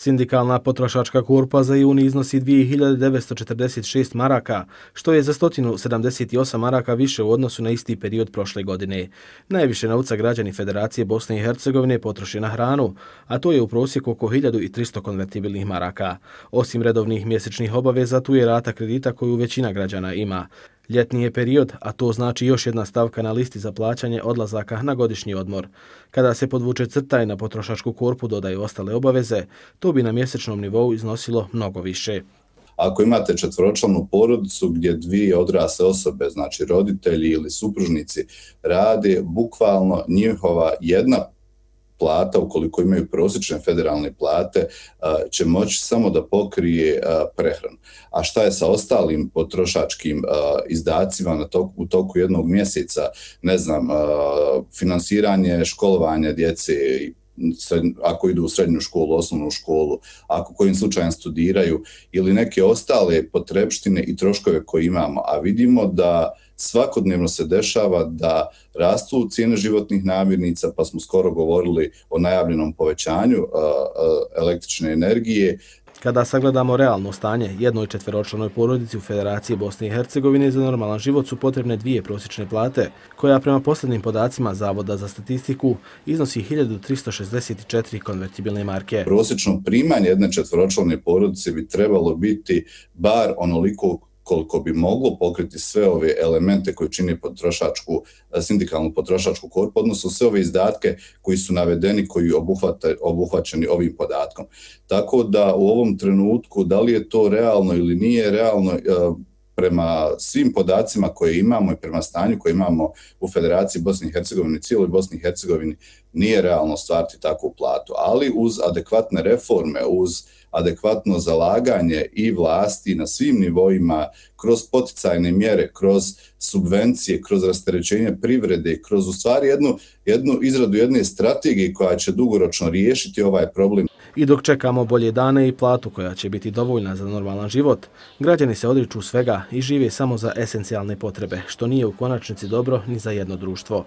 Sindikalna potrošačka korpa za juni iznosi 2946 maraka, što je za 178 maraka više u odnosu na isti period prošle godine. Najviše novca građani Federacije Bosne i Hercegovine potroše na hranu, a to je u prosjeku oko 1300 konvertibilnih maraka. Osim redovnih mjesečnih obaveza, tu je rata kredita koju većina građana ima. Ljetni je period, a to znači još jedna stavka na listi za plaćanje odlazaka na godišnji odmor. Kada se podvuče crta i na potrošačku korpu dodaju ostale obaveze, to bi na mjesečnom nivou iznosilo mnogo više. Ako imate četvoročlanu porodicu gdje dvije odrasle osobe, znači roditelji ili supružnici, rade, bukvalno njihova jedna plata, ukoliko imaju prosječne federalne plate, će moći samo da pokrije prehranu. A šta je sa ostalim potrošačkim izdacima u toku jednog mjeseca, ne znam, finansiranje školovanja djece, ako idu u srednju školu, osnovnu školu, ako kojim slučajem studiraju ili neke ostale potrepštine i troškove koje imamo, a vidimo da svakodnevno se dešava da rastu cijene životnih namirnica, pa smo skoro govorili o najavljenom povećanju električne energije. Kada sagledamo realno stanje, jednoj četveročlanoj porodici u Federaciji Bosne i Hercegovine za normalan život su potrebne dvije prosječne plate, koja prema posljednjim podacima Zavoda za statistiku iznosi 1364 konvertibilne marke. Prosječno primanje jedne četveročlane porodice bi trebalo biti bar onoliko koliko bi moglo pokriti sve ove elemente koji čine sindikalnu potrošačku korpu, odnosno sve ove izdatke koji su navedeni, koji obuhvaćeni ovim podatkom. Tako da u ovom trenutku, da li je to realno ili nije realno, prema svim podacima koje imamo i prema stanju koje imamo u Federaciji Bosne i Hercegovine, cijeloj Bosni i Hercegovini, nije realno stvariti takvu platu. Ali uz adekvatne reforme, uz adekvatno zalaganje i vlasti na svim nivoima, kroz poticajne mjere, kroz subvencije, kroz rasterećenje privrede, kroz u stvari jednu izradu jedne strategije koja će dugoročno riješiti ovaj problem. I dok čekamo bolje dane i platu koja će biti dovoljna za normalan život, građani se odriču svega i žive samo za esencijalne potrebe, što nije u konačnici dobro ni za jedno društvo.